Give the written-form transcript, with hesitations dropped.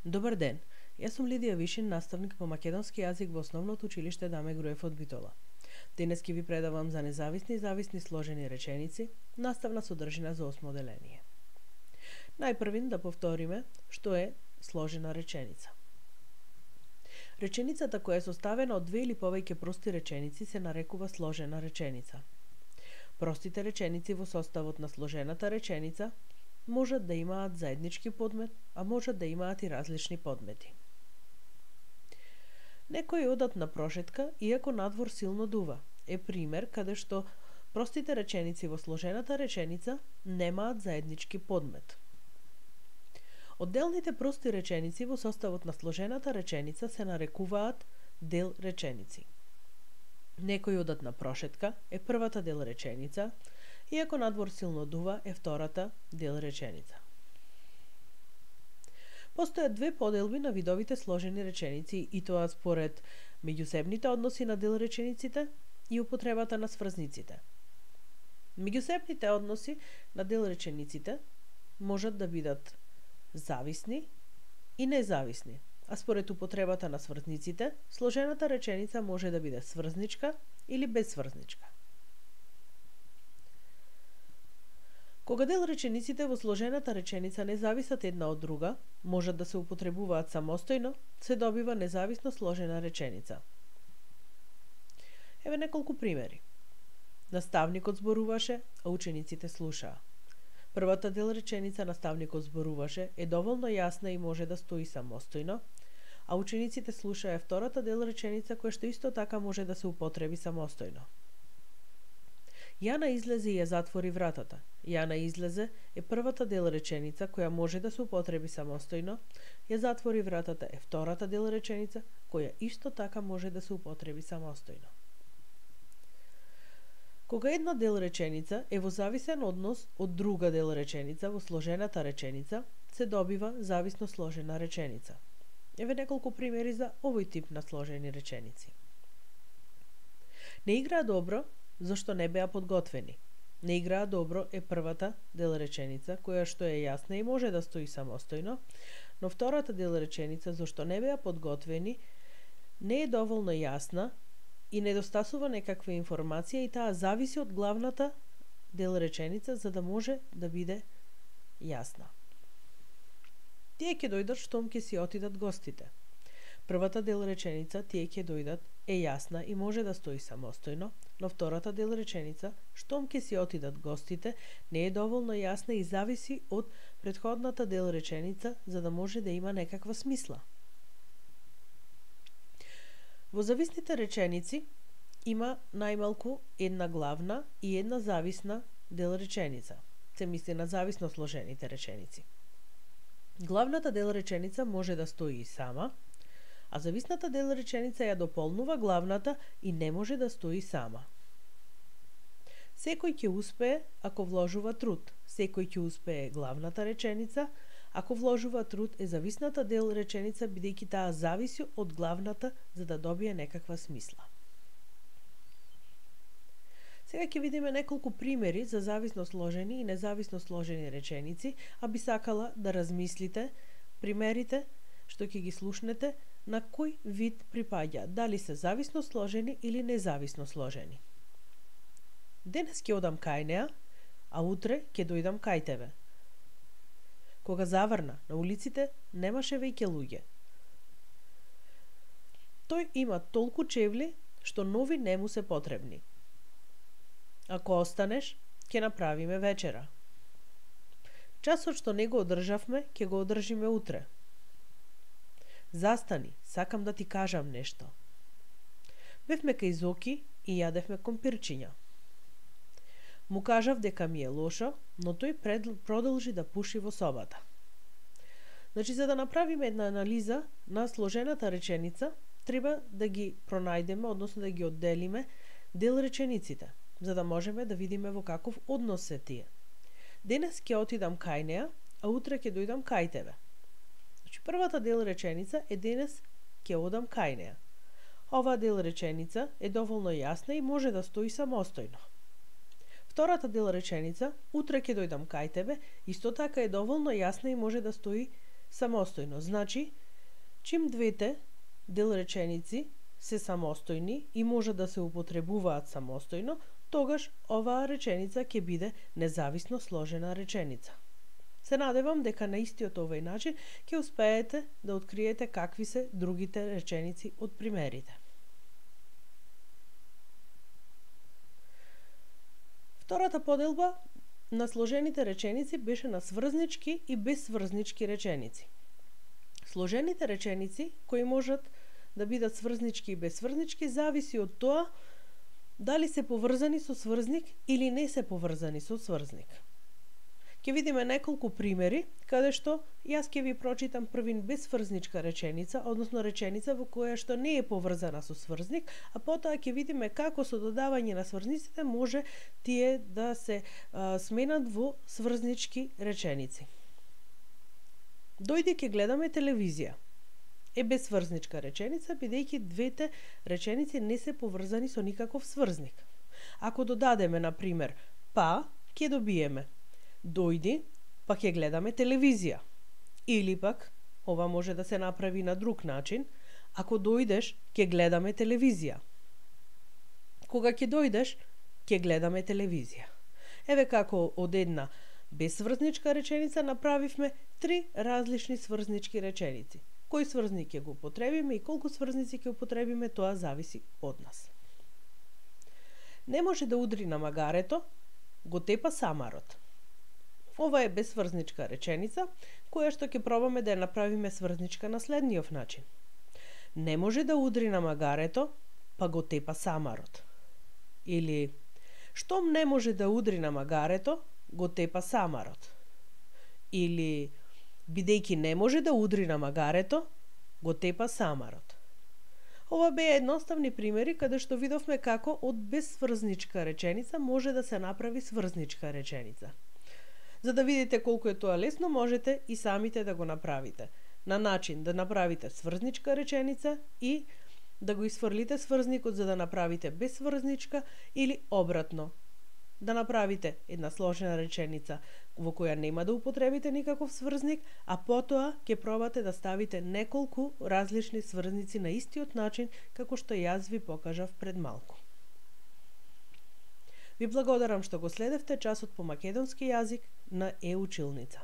Добар ден, јас сум Лидија Вишин, наставник по македонски јазик во Основното училиште Даме Груев од Битола. Денес ќе ви предавам за независни и зависни сложени реченици, наставна содржина за 8 деление. Најпрвин да повториме што е сложена реченица. Реченицата која е составена од две или повеќе прости реченици се нарекува сложена реченица. Простите реченици во составот на сложената реченица можат да имаат заеднички подмет, а можат да имаат и различни подмети. Некои одат на прошетка, иако надвор силно дува, е пример каде што простите реченици во сложената реченица немаат заеднички подмет. Одделните прости реченици во составот на сложената реченица се нарекуваат дел реченици. Некои одат на прошетка е првата дел реченица, иако надвор силно дува е втората дел реченица. Постојат две поделби на видовите сложени реченици и тоа според меѓусебните односи на дел речениците и употребата на сврзниците. Меѓусебните односи на дел речениците можат да бидат зависни и независни, а според употребата на сврзниците, сложената реченица може да биде сврзничка или безсврзничка. Кога дел речениците во сложената реченица не зависат една од друга, можат да се употребуваат самостојно, се добива независно сложена реченица. Еве неколку примери. Наставникот зборуваше, а учениците слушаа. Првата дел реченица наставникот зборуваше е доволно јасна и може да стои самостојно, а учениците слушаа е втората дел реченица која што исто така може да се употреби самостојно. Јана излезе и ја затвори вратата. Јана излезе е првата дел реченица која може да се употреби самостојно, ја затвори вратата е втората дел реченица која исто така може да се употреби самостојно. Кога една дел реченица е во зависен однос од друга дел реченица во сложената реченица, се добива зависно сложена реченица. Еве неколку примери за овој тип на сложени реченици. Не играа добро, зашто не беа подготвени. Не играа добро е првата дел реченица, која што е јасна и може да стои самостојно, но втората дел реченица, зашто не беа подготвени, не е доволно јасна и недостасува некаква информација и таа зависи од главната дел реченица за да може да биде јасна. Тие ќе дојдат штом ќе си отидат гостите. Првата дел реченица, тие ќе дојдат, е јасна и може да стои самостојно, но втората дел реченица, штом ќе си отидат гостите, не е доволно јасна и зависи од претходната дел реченица за да може да има некаква смисла. Во зависните реченици има најмалку една главна и една зависна дел реченица. Се мисли на зависно сложените реченици. Главната дел реченица може да стои и сама, а зависната дел реченица ја дополнува главната и не може да стои сама. Секој ќе успее ако вложува труд. Секој ќе успее главната реченица, ако вложува труд е зависната дел реченица бидејќи таа зависи од главната за да добие некаква смисла. Сега ќе видиме неколку примери за зависно сложени и независно сложени реченици, а би сакала да размислите примерите што ќе ги слушнете на кој вид припаѓа, дали се зависно сложени или независно сложени. Денес ќе одам кај неа, а утре ќе дојдам кај тебе. Кога заврна, на улиците немаше веќе луѓе. Тој има толку чевли што нови не му се потребни. Ако останеш, ќе направиме вечера. Часот што не го одржавме, ќе го одржиме утре. Застани, сакам да ти кажам нешто. Бевме кај Зоки и јадевме компирчиња. Му кажав дека ми е лошо, но тој продолжи да пуши во собата. Значи, за да направиме една анализа на сложената реченица, треба да ги пронајдеме, односно да ги одделиме дел речениците, за да можеме да видиме во каков однос се тие. Денес ќе отидам кај неа, а утре ќе дојдам кај тебе. Значи, првата дел реченица е денес ќе одам кај неа. Оваа дел реченица е доволно јасна и може да стои самостојно. Втората дел реченица, утре ќе дојдам кај тебе, исто така е доволно јасна и може да стои самостојно. Значи, чим двете делреченици се самостојни и може да се употребуваат самостојно, тогаш оваа реченица ќе биде независно сложена реченица. Се надевам дека на истиот овој начин ќе успеете да откриете какви се другите реченици од примерите. Втората поделба на сложените реченици беше на сврзнички и безсврзнички реченици. Сложените реченици, кои можат да бидат сврзнички и безсврзнички, зависи од тоа дали се поврзани со сврзник или не се поврзани со сврзник. Ќе видиме неколку примери, каде што јас ќе ви прочитам првин безсврзничка реченица, односно реченица во која што не е поврзана со сврзник, а потоа ќе видиме како со додавање на сврзниците може тие да се сменат во сврзнички реченици. Дојди ќе гледаме телевизија. Е безсврзничка реченица, бидејќи двете реченици не се поврзани со никаков сврзник. Ако додадеме, на пример, па, ќе добиеме дојди, па ќе гледаме телевизија. Или пак, ова може да се направи на друг начин, ако дојдеш, ќе гледаме телевизија. Кога ќе дојдеш, ќе гледаме телевизија. Еве како од една безсврзничка реченица направивме 3 различни сврзнички реченици. Кој сврзник ќе го употребиме и колку сврзници ќе употребиме, тоа зависи од нас. Не може да удри на магарето, го тепа самарот. Ова е безсврзничка реченица, која што ќе пробаме да ја направиме сврзничка на следниот начин. Не може да удри на магарето, па го тепа самарот. Или, штом не може да удри на магарето, го тепа самарот. Или, бидејќи не може да удри на магарето, го тепа самарот. Ова беа едноставни примери каде што видовме како од безсврзничка реченица може да се направи сврзничка реченица. За да видите колку е тоа лесно, можете и самите да го направите. На начин да направите сврзничка реченица и да го исфрлите сврзникот за да направите безсврзничка, или обратно. Да направите една сложена реченица во која нема да употребите никаков сврзник, а потоа ќе пробате да ставите неколку различни сврзници на истиот начин како што јас ви покажав пред малку. Ви благодарам што го следевте часот по македонски јазик на Е-училница.